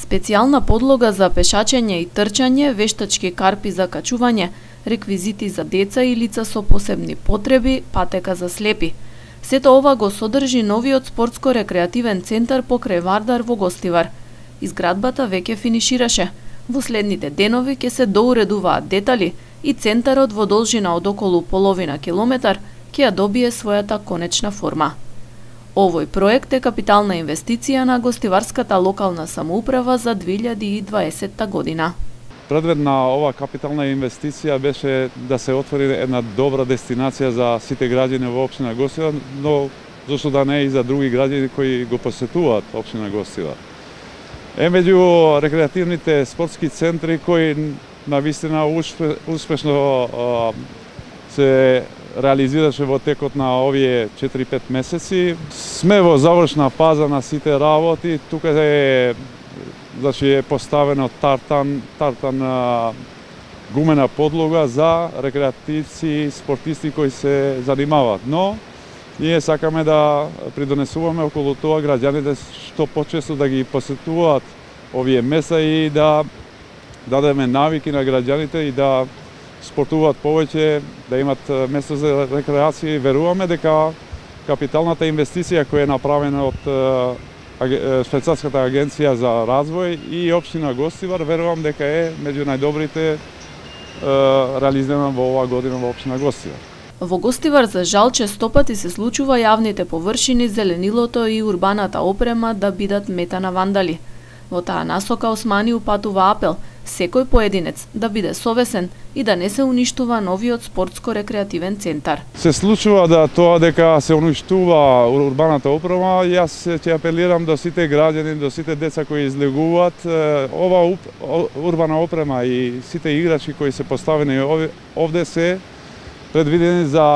Специјална подлога за пешачење и трчање, вештачки карпи за качување, реквизити за деца и лица со посебни потреби, патека за слепи. Сето ова го содржи новиот спортско-рекреативен центар покрај Вардар во Гостивар. Изградбата веќе финишираше. Во следните денови ќе се доуредуваат детали и центарот во должина од околу половина километар ќе ја добие својата конечна форма. Овој проект е капитална инвестиција на Гостиварската локална самоуправа за 2020 година. Предвид на ова капитална инвестиција беше да се отвори една добра дестинација за сите граѓани во општина Гостивар, но зошто да не и за други граѓани кои го посетуваат општина Гостивар. Меѓу рекреативните спортски центри кои навистина успешно се реализираше во текот на овие 4-5 месеци. Сме во завршна фаза на сите работи. Тука е поставено тартан гумена подлога за рекреативци и спортисти кои се занимаваат. Но ние сакаме да придонесуваме околу тоа граѓаните што почесто да ги посетуваат овие места и да дадеме навики на граѓаните и да спортуваат повеќе, да имат место за рекреација. Веруваме дека капиталната инвестиција која е направена од Швајцарската агенција за развој и општина Гостивар, верувам дека е меѓу најдобрите реализирана во оваа година во општина Гостивар. Во Гостивар за жал честопати се случува јавните површини, зеленилото и урбаната опрема да бидат мета на вандали. Во таа насока Османи упатува апел секој поединец да биде совесен и да не се уништува новиот спортско-рекреативен центар. Се случува да тоа дека се уништува урбаната опрема, јас ќе апелирам до сите граѓани, до сите деца кои излегуваат, ова урбана опрема и сите играчки кои се поставени овде се предвидени за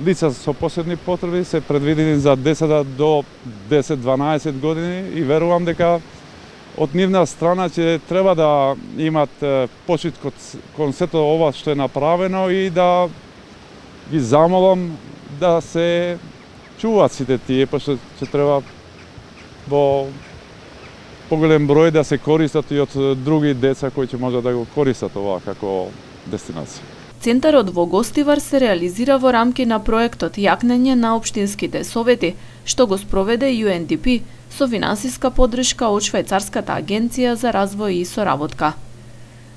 лица со посебни потреби, се предвидени за децата до 10-12 години и верувам дека од нивна страна ќе треба да имат почит кон сето ова што е направено и да ги замолам да се чуваат сите тие, пошто ќе треба во поголем број да се користат и од други деца кои ќе можат да го користат ова како дестинација. Центарот во Гостивар се реализира во рамки на проектот Јакнење на општинските совети, што го спроведе UNDP со финансиска поддршка од Швајцарската агенција за развој и соработка.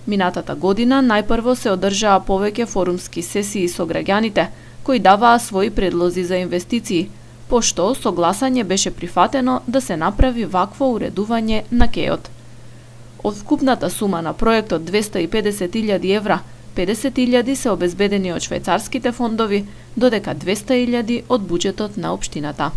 Минатата година најпрво се одржаа повеќе форумски сесии со граѓаните, кои даваа своји предлози за инвестиции, пошто со гласање беше прифатено да се направи вакво уредување на кејот. Од вкупната сума на проектот 250.000 евра, 50.000 се обезбедени од швајцарските фондови, додека 200.000 од буџетот на општината.